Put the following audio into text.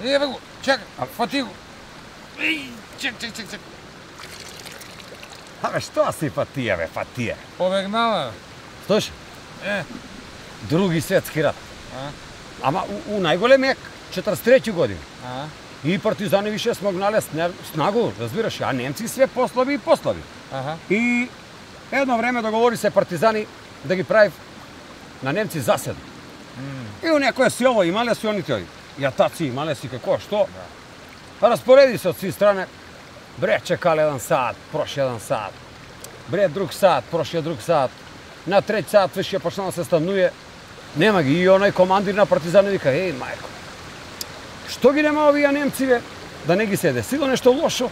Еве го, чекай, фати го. Чек. Абе, што си фатија, бе, фатија? Побегнала. Слушай, Други светски рат. Ама у најголемиот 43 година. И партизани више смогнале снагу, разбираш, а немци све послаби и послаби. И едно време договори се партизани да ги прави на немци засед. И у некоја село имале си они тој. Јатаци имале си како, што? Распореди се од сви стране. Бре, чекале 1 сат, проши 1 сат. Бре, друг сат, проши друг сат. На трети сат више почнало да се стануе. Нема ги. И оној командир на партизани вика, еј, мајко, што ги нема овие немци, бе? Да не ги се десило нешто лошо?